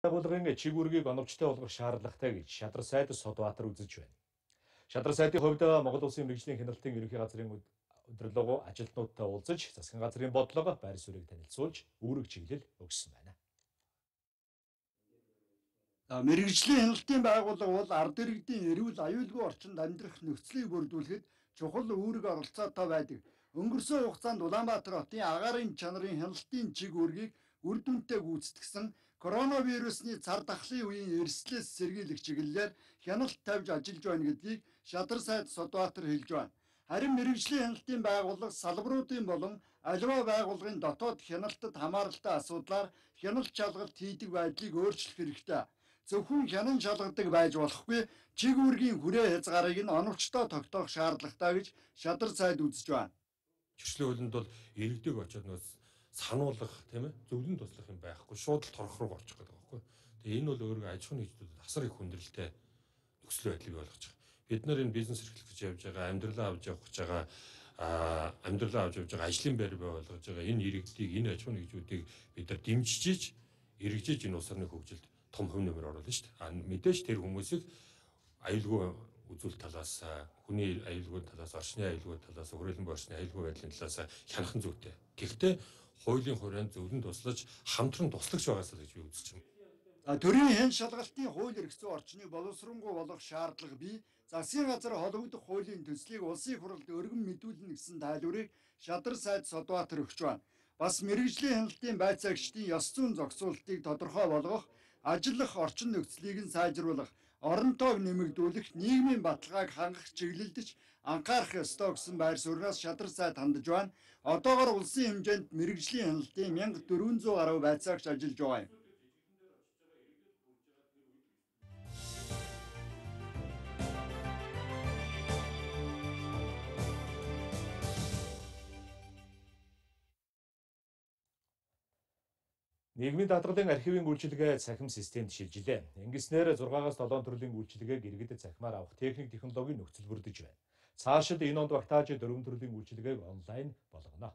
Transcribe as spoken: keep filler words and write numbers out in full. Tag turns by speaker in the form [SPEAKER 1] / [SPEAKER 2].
[SPEAKER 1] Байгууллагын чиг үүргийг оновчтой болгох шаардлагатай гэж Шадар сайд Содбаатар үзэж байна. Шадар сайдын хувьд Монгол Улсын мэргэжлийн хяналтын ерөнхий газрын удирдлагын ажилтнуудтай уулзаж, засгийн газрын бодлого, байр суурийг танилцуулж, үүрэг чиглэл өгсөн байна.
[SPEAKER 2] Мэргэжлийн хяналтын байгууллага бол ард иргэдийн эрүүл аюулгүй орчинд амьдрах нөхцөлийг бүрдүүлэхэд чухал үүрэг оролцоотой байдаг. Өнгөрсөн хугацаанд Улаанбаатар хотын агаарын чанарын хяналтын чиг үүргийг үр дүнтэй гүйцэтгэсэн, коронавирусны цар тахлын үеийн эрсдлээс сэргийлэх чиглэлээр хяналт тавьж ажиллаж байна гэдгийг Шадар сайд Содбаатар хэлж байна. Харин мэргэжлийн хяналтын байгууллага салбаруудын болон аливаа байгууллагын дотоод хяналтад хамааралтай асуудлаар хяналт шалгалт хийдэг байдлыг өөрчлөх хэрэгтэй. Зөвхөн хянан шалгадаг байж болохгүй, чиг үүргийн хүрээ хязгаарыг нь оновчтой тогтоох шаардлагатай гэж Шадар сайд үзэж байна.
[SPEAKER 3] Чирчлэн хуулинд бол иргэдэг очоод нөөц сануулгах тийм ээ зөвлөн туслах юм байхгүй, шууд л торох руу орчих гэдэг байхгүй. Тэгээ энэ бол өөрөө аж ахуйн нэгжүүдэд асар их хүндрэлтэй нөхцөл байдлыг болгож байгаа. Бид нар энэ бизнес эрхлэх гэж явж байгаа, амьдралаа авч явах гэж байгаа, аа амьдралаа авч явж байгаа, ажлын байр бий болгож байгаа энэ иргэдийг, энэ аж ахуйн нэгжүүдийг бид нар дэмжиж, эргэжиж энэ улс орны хөгжилд том хөв нэмэр оруулна шүү дээ. А мэдээж тэр хүмүүсийг аюулгүй үзүүл талаас, хүний аюулгүй талаас, орчны аюулгүй талаас, хүрээлэн борчны аюулгүй байдлын талаас хянахан зүйтэй. Гэхдээ хуулийн хүрээнд зөвлөн туслаж, хамтран туслагч байгаасаа гэж би үзэж байна.
[SPEAKER 2] Төрийн хэн шалгалтын хууль эрх зүйн орчныг боловсронгуй болгох шаардлага бий. Засгийн газар холбогдох хуулийн төслийг улсын хурлд өргөн мэдүүлнэ гэсэн тайлбарыг Шадар сайд Содбаатар өгч байна. Бас мэргэжлийн хяналтын байцаагчдын ёс зүйн зохицуулалтыг тодорхой болгох, ажиллах орчин нөхцөлийг нь сайжруулах, оронтойг нэмэгдүүлэх, нийгмийн баталгааг хангах чиглэлдэж анхаарах ёстой гэсэн байр сууриас Шадар сайд хандж байна. Одоогоор улсын хэмжээнд мэргэжлийн хяналтын мянга дөрвөн зуун гаруй байцаагч ажиллаж байгаа юм.
[SPEAKER 1] Нийгмийн даатгалын архивын үйлчилгээ цахим системд шилжилээ. Ингэснээр зургаагаас долоон төрлийн үйлчилгээг иргэдэд цахимаар авах техник технологийн нөхцөл бүрдэж байна. Цаашид энэ онд багтааж дөрвөн төрлийн үйлчилгээг онлайн болгоно.